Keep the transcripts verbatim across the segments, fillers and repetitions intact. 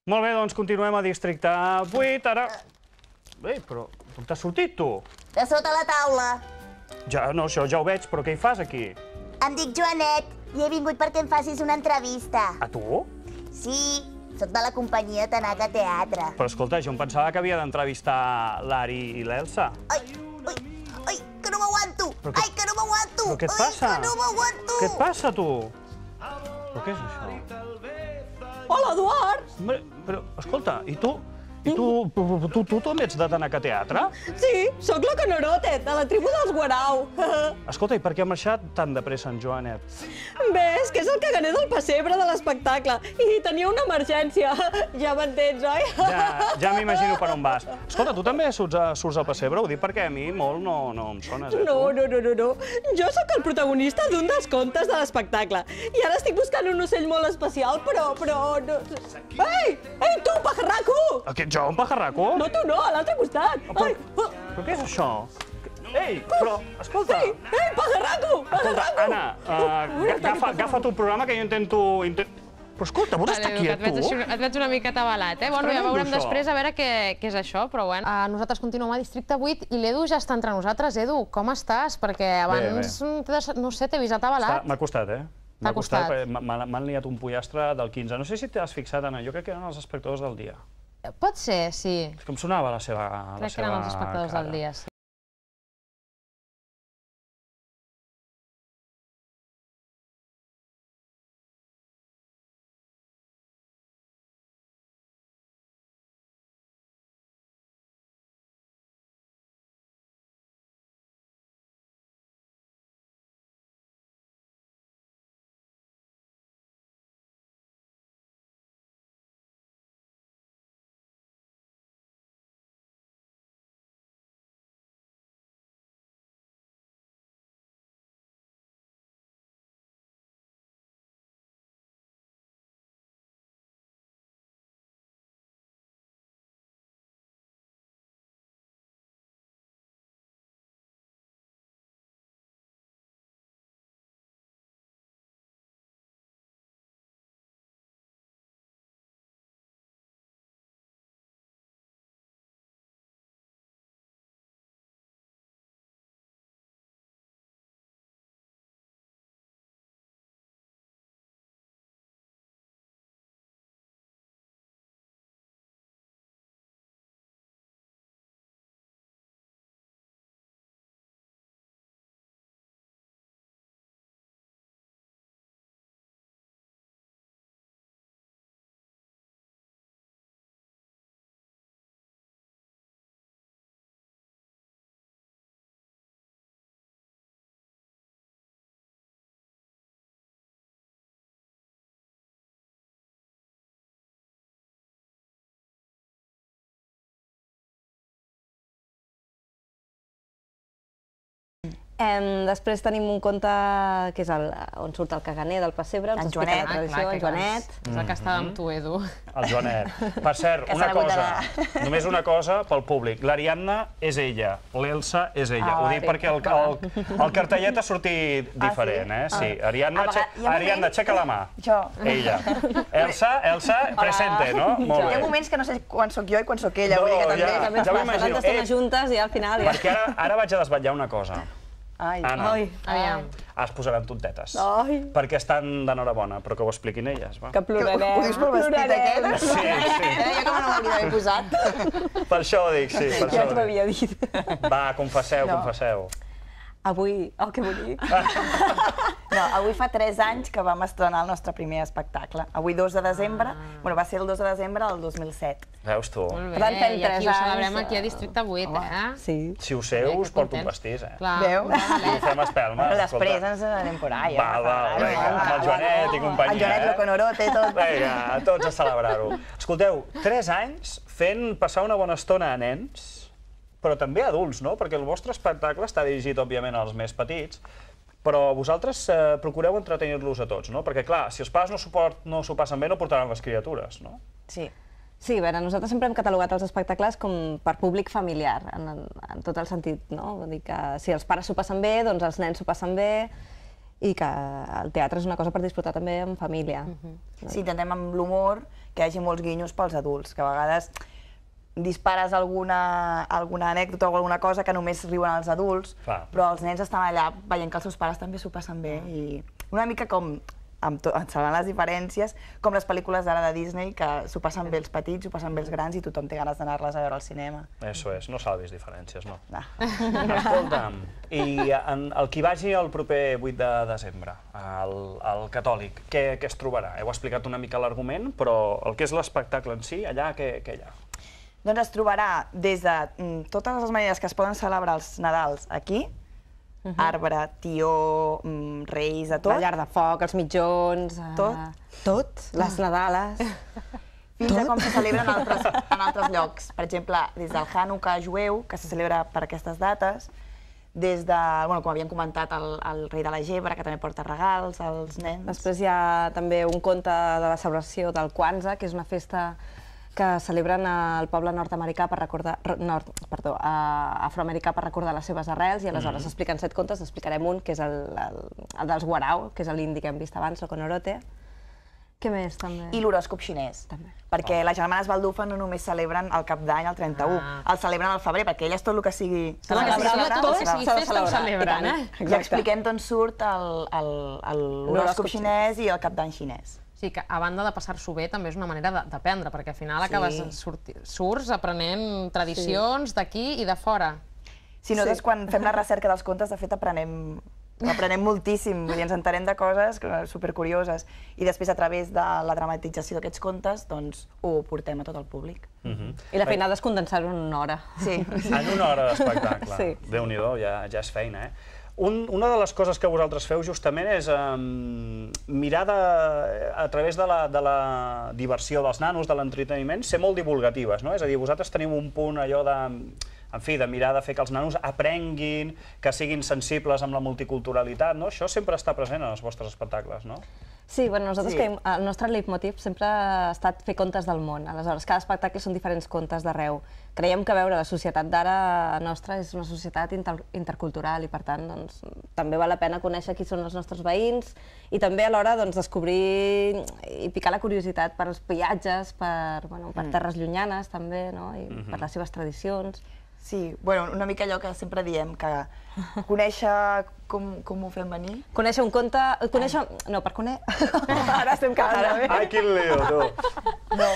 Molt bé, doncs continuem a Districte vuit, ara... Ei, però on t'has sortit, tu? De sota la taula. Ja, no, això ja ho veig, però què hi fas aquí? Em dic Joanet i he vingut perquè em facis una entrevista. A tu? Sí, sóc de la companyia Tanaca Teatre. Però escolta, jo em pensava que havia d'entrevistar l'Ari i l'Elsa. Ai, ai, ai, que no m'aguanto! Ai, que no m'aguanto! Però què et passa? Ai, que no m'aguanto! Què et passa, tu? Però què és això? Hola, Eduard! Hombre, però, escolta, i tu? I tu, tu, tu també ets de Tanaca Teatre? Sí, sóc la Canorote, de la tribu dels Guarau. Escolta, i per què ha marxat tan de pressa en Joanet? Bé, és que és el caganer del pessebre de l'espectacle i tenia una emergència. Ja m'entens, oi? Ja, ja m'imagino per on vas. Escolta, tu també surts, a, surts al pessebre? Ho dic perquè a mi molt no, no em sones, eh? No, no, no, no, no. Jo sóc el protagonista d'un dels contes de l'espectacle. I ara estic buscant un ocell molt especial, però... però no... Ei! Ei, tu, pajarraco! Aquest jo, un pajarraco? No, tu no, a l'altre costat. Però, Ai, oh. però què és això? Ei, però, escolta... Ei, ei, pajarraco! Escolta, Anna, uh, agafa, agafa tu el programa que jo intento... Intent... Però escolta, vols estar quiet, tu? Et veig una mica atabalat, eh? Bueno, ja veurem després a veure què és això, però bueno. Nosaltres continuem a Districte vuit i l'Edu ja està entre nosaltres. Edu, com estàs? Perquè abans, no sé, t'he vist atabalat. M'ha costat, eh? T'ha costat. M'han liat un pollastre del quinze. No sé si t'has fixat, Anna, jo crec que eren els espectadors del dia. Pot ser, sí. És que em sonava la seva cara. Crec que eren els espectadors del dia, sí. Després tenim un conte que és on surt el caganer del pessebre, en Joanet, en Joanet. És el que estava amb tu, Edu. El Joanet. Per cert, una cosa, només una cosa pel públic. L'Ariadna és ella, l'Elsa és ella. Ho dic perquè el cartellet ha sortit diferent, eh? Sí. Ariadna, aixeca la mà. Jo. Ella. Elsa, Elsa, presente, no? Molt bé. Hi ha moments que no sé quan sóc jo i quan sóc ella, vull dir que també... També ens passa, tantes estones juntes i al final... Perquè ara vaig a desvetllar una cosa. Ai, Anna, aviam. es posaran tontetes. Ai. Perquè estan d'enhorabona, però que ho expliquin elles, va. Que plorarem. Ho dius pel vestit aquest? Sí, sí. Jo que me l'hauria d'haver posat. Per això ho dic, sí, per Ja això t'ho ho dic. havia dit. Va, confesseu, confesseu. Avui... Oh, que bonic. No, avui fa tres anys que vam estrenar el nostre primer espectacle. Avui, dos de desembre, bueno, va ser el dos de desembre del dos mil set. Veus tu? Molt Per tant, bé, fem i tres aquí ho anys. celebrem aquí a Districte vuit, eh? Sí. Si ho sé, us porto un pastís, eh? Clar. Veu? I ho fem espelma. Bueno, després ens anem por ahí. Va, va, vinga, amb el Joanet i companyia, El Joanet, eh? lo Conorote, tot. Vinga, tots a celebrar-ho. Escolteu, tres anys fent passar una bona estona a nens, però també a adults, no? Perquè el vostre espectacle està dirigit, òbviament, als més petits, però vosaltres eh, procureu entretenir-los a tots, no? Perquè, clar, si els pares no s'ho passen bé, no portaran les criatures, no? Sí. Sí, a veure, nosaltres sempre hem catalogat els espectacles com per públic familiar, en, en tot el sentit, no? Vull dir que si els pares s'ho passen bé, doncs els nens s'ho passen bé, i que el teatre és una cosa per disfrutar també en família. Sí, intentem amb l'humor que hi hagi molts guinyos pels adults, que a vegades dispares alguna, alguna anècdota o alguna cosa que només riuen els adults, Clar. però els nens estan allà veient que els seus pares també s'ho passen bé. I una mica com, amb to, salvant les diferències, com les pel·lícules d'ara de Disney, que s'ho passen bé els petits, s'ho passen bé els grans i tothom té ganes d'anar-les a veure al cinema. Eso és, no salvis diferències, no. No. Escolta'm, i en, el qui vagi el proper vuit de desembre, el, el Catòlic, què, què es trobarà? Heu explicat una mica l'argument, però el que és l'espectacle en si, allà què, què hi ha? Doncs es trobarà des de mm, totes les maneres que es poden celebrar els Nadals aquí, uh-huh. arbre, tió, mm, reis, de tot. La llar de foc, els mitjons... Uh, Tot. Tot, les Nadales... Fins a com se celebra en altres, en altres llocs. Per exemple, des del Hanukkah jueu, que se celebra per aquestes dates, des de, bueno, com havíem comentat, el, el rei de la gebre, que també porta regals als nens. Després hi ha també un conte de la celebració del Kwanzaa, que és una festa que celebren al poble nord-americà per recordar, nord, perdó, afroamericà per recordar les seves arrels, i aleshores mm. expliquen set contes, n'explicarem un, que és el, el, el dels Warao, que és l'indi que hem vist abans, el Conorote. Què més, també? I l'horòscop xinès, també. perquè oh. les germanes Baldufa no només celebren el cap d'any, el trenta-u, ah. el celebren al febrer, perquè elles tot el que sigui... Tot el que sigui tot, que sigui festa ho celebren, eh? I expliquem d'on surt l'horòscop xinès i el cap d'any xinès. Sí, que a banda de passar-s'ho bé, també és una manera d'aprendre, perquè al final acabes surts aprenent tradicions d'aquí i de fora. Sí, nosaltres quan fem la recerca dels contes, de fet, aprenem aprenem moltíssim, vull dir, ens entenem de coses supercurioses, i després a través de la dramatització d'aquests contes, doncs ho portem a tot el públic. I la feinada és condensar-ho en una hora. Sí. En una hora d'espectacle. Sí. Déu-n'hi-do, ja, ja és feina, eh? Un, una de les coses que vosaltres feu justament és um, mirar de, a través de la, de la diversió dels nanos, de l'entreteniment, ser molt divulgatives, no? És a dir, vosaltres teniu un punt allò de, en fi, de mirar de fer que els nanos aprenguin, que siguin sensibles amb la multiculturalitat, no? Això sempre està present en els vostres espectacles, no? Sí, bueno, nosaltres Sí. creiem, el nostre leitmotiv sempre ha estat fer contes del món. Aleshores, cada espectacle són diferents contes d'arreu. Creiem que veure la societat d'ara nostra és una societat inter intercultural i, per tant, doncs, també val la pena conèixer qui són els nostres veïns i també alhora doncs, descobrir i picar la curiositat per als viatges, per, bueno, per terres llunyanes també, no? I mm-hmm. per les seves tradicions. Sí, bueno, una mica allò que sempre diem, que conèixer com, com ho fem venir. Conèixer un conte... Conèixer... No, per conèixer... Ara estem quedant bé. Ai, quin lío, tu! No.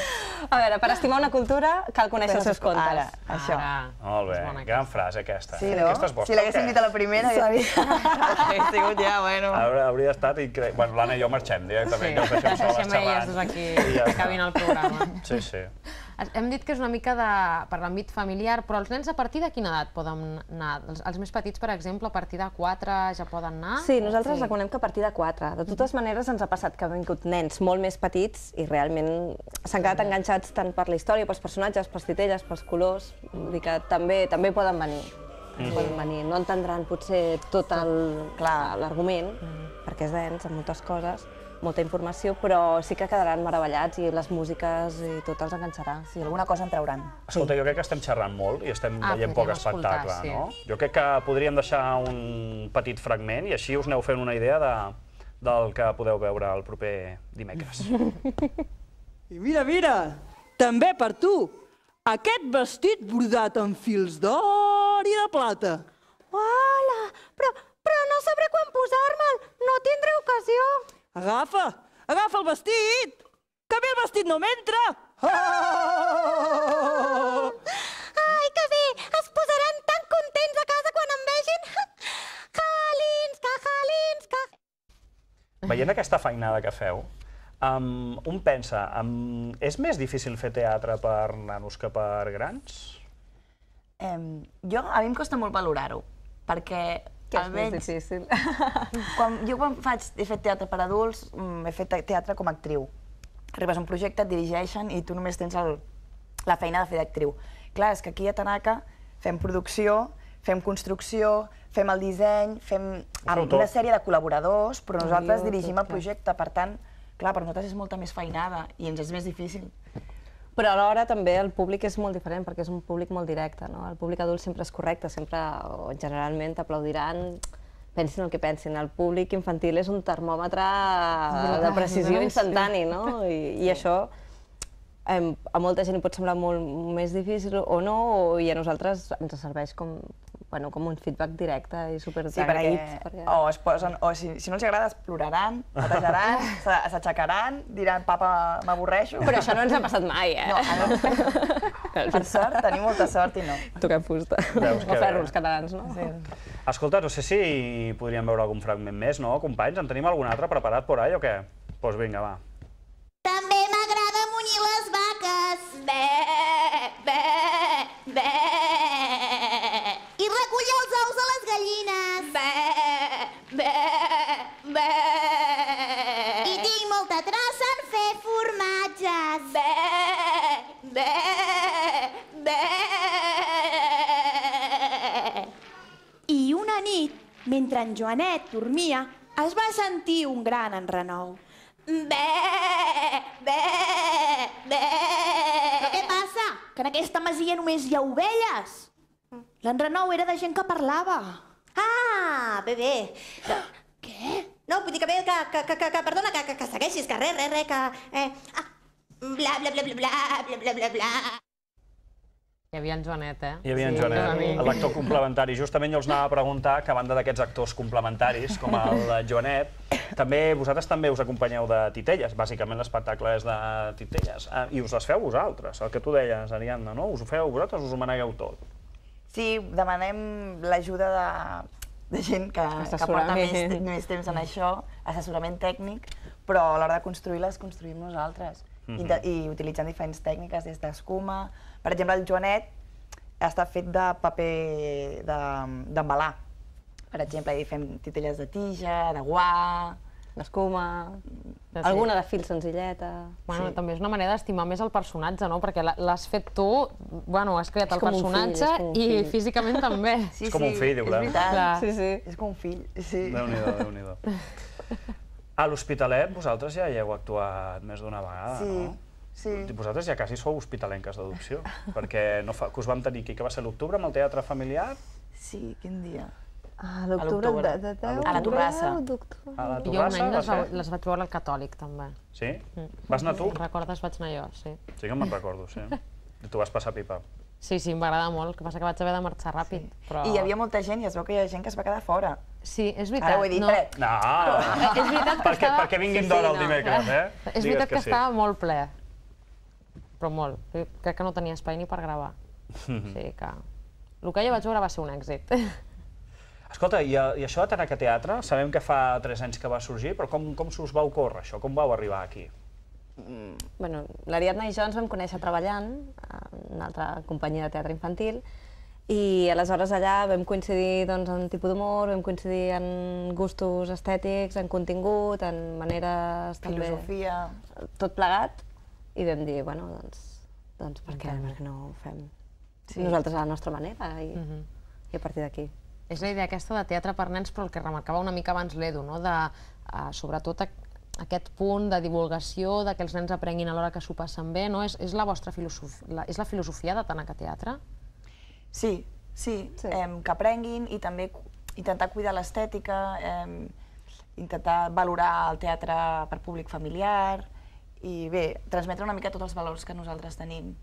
A veure, per estimar una cultura cal conèixer els seus contes. Ara, això. Molt bé, gran frase aquesta. Sí, no? Aquesta és vostra, Si l'haguéssim o què? dit a la primera, hauria sigut ja, bueno. Hauria, hauria estat increïble. Bueno, l'Anna i jo marxem directament, ja us deixem soles Deixem elles xerrant. dos aquí, I ja que està. acabin el programa. Sí, sí. Hem dit que és una mica de, per l'àmbit familiar, però els nens a partir de quina edat poden anar? Els, els més petits, per exemple, a partir de quatre ja poden anar? Sí, nosaltres sí. recomanem que a partir de quatre. De totes maneres, ens ha passat que han vingut nens molt més petits i realment s'han quedat enganxats tant per la història, pels personatges, pels titelles, pels colors. Vull dir que també, també poden venir. Mm. Poden venir. No entendran potser tot l'argument, perquè és dens en moltes coses, molta informació, però sí que quedaran meravellats i les músiques i tot els enganxarà. Sí, alguna cosa en trauran. Escolta, jo crec que estem xerrant molt i estem Ah, veient poc podríem escoltar, espectacle, sí. no? Jo crec que podríem deixar un petit fragment i així us aneu fent una idea de, del que podeu veure el proper dimecres. I mira, mira, també per tu, aquest vestit brodat amb fils d'or i de plata. Hola, però, però no sabré quan posar-me'l, no tindré ocasió. Agafa, agafa el vestit, que a mi el vestit no m'entra. Ai, que bé, es posaran tan contents a casa quan em vegin. Jalins, que jalins, que... Veient aquesta feinada que feu, um, un pensa, um, és més difícil fer teatre per nanos que per grans? Eh, jo, a mi em costa molt valorar-ho, perquè Que és almenys... més difícil. Quan, jo quan faig, he fet teatre per adults, mm, he fet teatre com a actriu. Arribes a un projecte, et dirigeixen i tu només tens el, la feina de fer d'actriu. Clar, és que aquí a Tanaka fem producció, fem construcció, fem el disseny, fem amb una sèrie de col·laboradors, però nosaltres Guió, dirigim tot, el projecte, per tant, clar, per nosaltres és molta més feinada i ens és més difícil. Però alhora també el públic és molt diferent, perquè és un públic molt directe, no? El públic adult sempre és correcte, sempre, o generalment, t'aplaudiran pensin el que pensin, el públic infantil és un termòmetre de precisió instantani, no? I això a molta gent li pot semblar molt més difícil o no, i a nosaltres ens serveix com com un feedback directe i superagraït. O es posen, o si no els agrada es ploraran, patejaran, s'aixecaran, diran papa m'avorreixo. Però això no ens ha passat mai, eh? Per sort, tenim molta sort i no. Toquem fusta. O ferros catalans, no? Escolta, no sé si podríem veure algun fragment més, no, companys? En tenim algun altre preparat por ahí o què? Doncs vinga, va. També m'agrada munyir les vaques. Bé, bé, bé. I recollir els ous a les gallines. Bé, bé, bé. I tinc molta traça en fer formatges. Bé, bé, bé. I una nit, mentre en Joanet dormia, es va sentir un gran enrenou. Bé, bé, bé. Però què passa? Que en aquesta masia només hi ha ovelles? L'enrenou era de gent que parlava. Ah, bé, bé. Què? No, vull dir que bé, que, que, que, que perdona, que, que segueixis, que res, res, res, que... Eh, ah, bla, bla, bla, bla, bla, bla, bla, bla, bla. Hi havia en Joanet, eh? Hi havia en Joanet, l'actor complementari. Justament jo els anava a preguntar que a banda d'aquests actors complementaris, com el Joanet, també vosaltres també us acompanyeu de titelles, bàsicament l'espectacle és de titelles, i us les feu vosaltres, el que tu deies, Ariadna, no? Us ho feu vosaltres, us ho manegueu tot? Sí, demanem l'ajuda de, de gent que, que porta més, més temps en això, assessorament tècnic, però a l'hora de construir les construïm nosaltres. I, de, i utilitzant diferents tècniques des d'escuma. Per exemple, el Joanet està fet de paper d'embalar. Per exemple, hi fem titelles de tija, de guà, d'escuma, alguna de fil senzilleta. Bueno, també és una manera d'estimar més el personatge, no? Perquè l'has fet tu, bueno, has creat el personatge i físicament també. És com un fill, diu, clar. És veritat, sí, sí. És com un fill, sí. Déu-n'hi-do, Déu-n'hi-do. A l'Hospitalet vosaltres ja hi heu actuat més d'una vegada, no? Sí. Vosaltres ja quasi sou hospitalenques d'adopció, perquè que us vam tenir aquí, que va ser l'octubre, amb el teatre familiar? Sí, quin dia? A l'octubre de deu? A la Torrassa. A la Jo un any Torrassa? les vaig veure al Catòlic, també. Sí? Vas anar tu? Recordes, vaig anar jo, sí. Sí que me'n recordo, sí. I tu vas passar pipa. Sí, sí, m'agrada molt, el que passa que vaig haver de marxar ràpid, però... I hi havia molta gent i es veu que hi ha gent que es va quedar fora. Sí, és veritat. Ara ho he dit, Pret. No! És veritat que estava... Perquè vinguin d'hora el dimecres, eh? És veritat que estava molt ple. Però molt. Crec que no tenia espai ni per gravar. O sigui que... El que jo vaig veure va ser un èxit. Escolta, i això de Tanaka Teatre, sabem que fa tres anys que va sorgir, però com s'us va ocórrer això? Com vau arribar aquí? Bueno, l'Ariadna i jo ens vam conèixer treballant en una altra companyia de teatre infantil i aleshores allà vam coincidir doncs, en tipus d'humor, vam coincidir en gustos estètics, en contingut, en maneres... Filosofia... Tot plegat i vam dir, bueno, doncs, doncs per què no ho fem nosaltres a la nostra manera i a partir d'aquí. És la idea aquesta de teatre per nens, però el que remarcava una mica abans l'Edu, de sobretot aquest punt de divulgació, de que els nens aprenguin a l'hora que s'ho passen bé, no? És la vostra filosofia, és la filosofia de Tanaka Teatre? Sí, sí, que aprenguin i també intentar cuidar l'estètica, intentar valorar el teatre per públic familiar i bé, transmetre una mica tots els valors que nosaltres tenim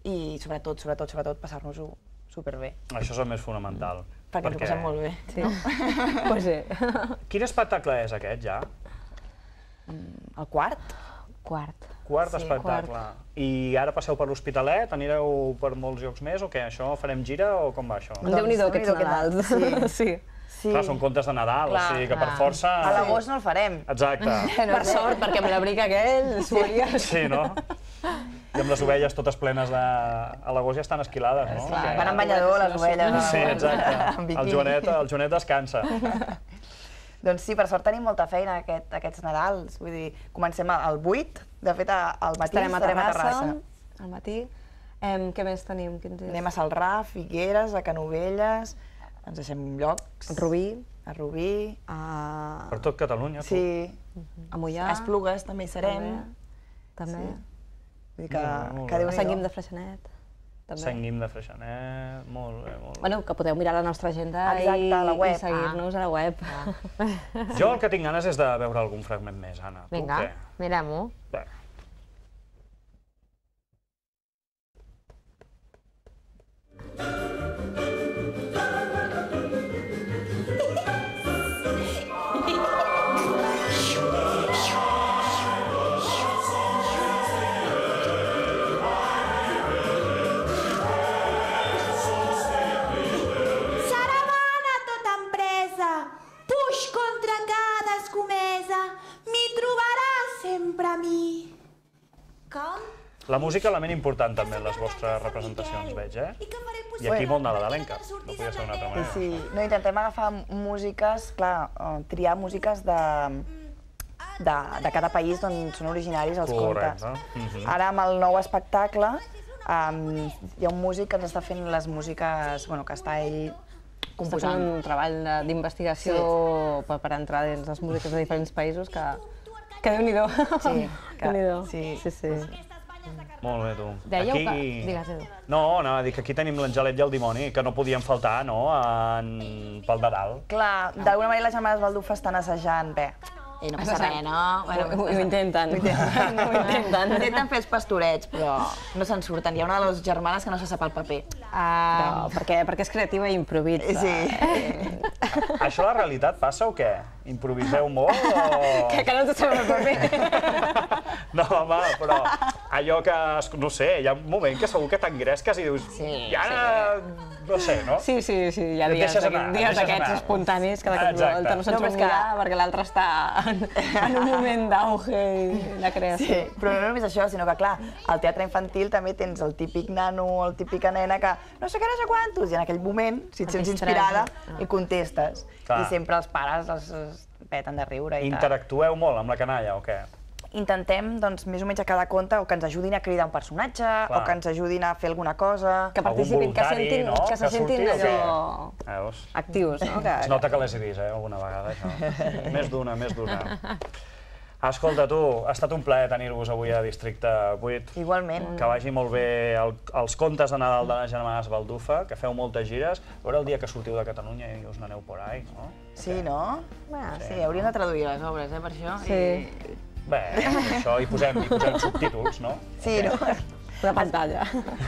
i sobretot, sobretot, sobretot passar-nos-ho superbé. Això és el més fonamental. Perquè ens ho passem molt bé. Sí. Pues sí. Quin espectacle és aquest ja? El quart? Quart. Quart espectacle. I ara passeu per l'Hospitalet, anireu per molts llocs més o què? Això farem gira o com va això? Déu-n'hi-do aquests Nadals. Sí. Clar, són contes de Nadal, o sigui que per força... A l'agost no el farem. Exacte. Per sort, perquè amb l'abric aquell es moria. Sí, no? I amb les ovelles totes plenes de... A l'agost ja estan esquilades, no? Van amb banyador les ovelles. Sí, exacte. El Joanet descansa. Doncs sí, per sort tenim molta feina aquests Nadals. Vull dir, comencem al vuit, de fet al matí estarem a Terrassa. Al matí. Què més tenim? Anem a Salrà, Figueres, a Canovelles, ens deixem llocs. A Rubí. A Rubí. Per tot Catalunya. Sí. A Moià. A Esplugues també hi serem. També. Vull dir que... A Sant Guim de Freixenet. també. Sant Guim de Freixenet, molt bé, molt bé. Bueno, que podeu mirar la nostra agenda Exacte, i, a la web. i seguir-nos a la web. Jo el que tinc ganes és de veure algun fragment més, Anna. Tu Vinga, què? mirem-ho. Bé. Saravana tota empresa, puix contra cada escomesa, m'hi trobaràs sempre a mi. Com? La música, element important també en les vostres representacions, veig, eh? I aquí molt nadalenca, no podia ser d'una altra manera. Sí, no, intentem agafar músiques, clar, triar músiques de, de, de cada país d'on són originaris els contes. Correcte. Ara, amb el nou espectacle, um, hi ha un músic que ens està fent les músiques, bueno, que està ell Està composant. fent un treball de- d'investigació per, per entrar dins les músiques de diferents països que, que Déu-n'hi-do. Sí, que- Déu-n'hi-do. sí. sí, sí. Molt bé, tu. Dèieu aquí... que... Digues, Edu. No, anava a dir que aquí tenim l'Angelet i el dimoni, que no podien faltar, no?, en... pel de dalt. Clar, d'alguna manera les germanes Baldufa estan assajant, bé, i no passa res, no? Ho, ho, ho intenten. Ho intenten. Ho intenten. Intenten fer els pastorets, però no se'n surten. Hi ha una de les germanes que no se sap el paper. Però, perquè, perquè és creativa i improvisa. Sí. Això a la realitat passa o què? Improviseu molt o...? Que, que no te sabem el paper. No, home, però allò que, no sé, hi ha un moment que segur que t'engresques i dius, Sí, i ara, no sé, no? Sí, sí, sí, hi ha Et dies, deixes anar, et dies deixes d'aquests anar. espontanis que de cop i Exacte. volta no se'n No, però surt és que- mirar perquè l'altre està en, en un moment d'auge i de creació. Sí, però no només això, sinó que, clar, al teatre infantil també tens el típic nano o el típica nena que no sé què, no sé quantos, i en aquell moment, si et Et sents distraes, inspirada, ah. i contestes. Clar. I sempre els pares els, els peten de riure i tal. Interactueu molt amb la canalla o què? Intentem, doncs, més o menys a cada conte, o que ens ajudin a cridar un personatge, o que ens ajudin a fer alguna cosa. Que participin, que voluntari, sentin, no? que se Que sentin surti o allò Veus? actius, no? Que, Es nota que les he vist, eh, alguna vegada, això. Més d'una, més d'una. Escolta, tu, ha estat un plaer tenir-vos avui a Districte vuit. Igualment. Que vagi molt bé el, els contes de Nadal de les germanes Baldufa, que feu moltes gires. A veure el dia que sortiu de Catalunya i us n'aneu por ahí, no? Sí, no? Ah, Sí, hauríem de traduir les obres, eh, per això. Sí. I... Bé, això hi posem, hi posem subtítols, no? Sí, no? una pantalla.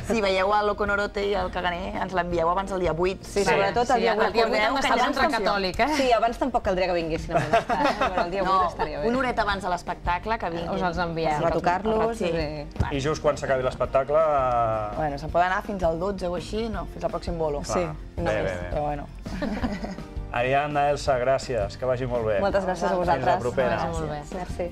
Si veieu el Loconorote i el Caganer, ens l'envieu abans del dia vuit. Sí, sobretot el Sí, dia el vuit. dia vuit Recordeu hem que d'estar al abans centre tampoc- catòlic, eh? Sí, abans tampoc caldria que vinguessin a molestar, eh? Però el dia No, vuit estaria bé. una horeta abans de l'espectacle que vinguin. Us els enviem. Retocar-los Sí. i... I just quan s'acabi l'espectacle... eh, Bueno, se'n poden anar fins al dotze o així, no? Fins al pròxim bolo. Sí, Bé, no bé, més. bé. Però bueno. Ariadna, Elsa, gràcies, que vagi molt bé. Moltes gràcies a vosaltres. Fins la propera. Que vagi molt bé. Merci.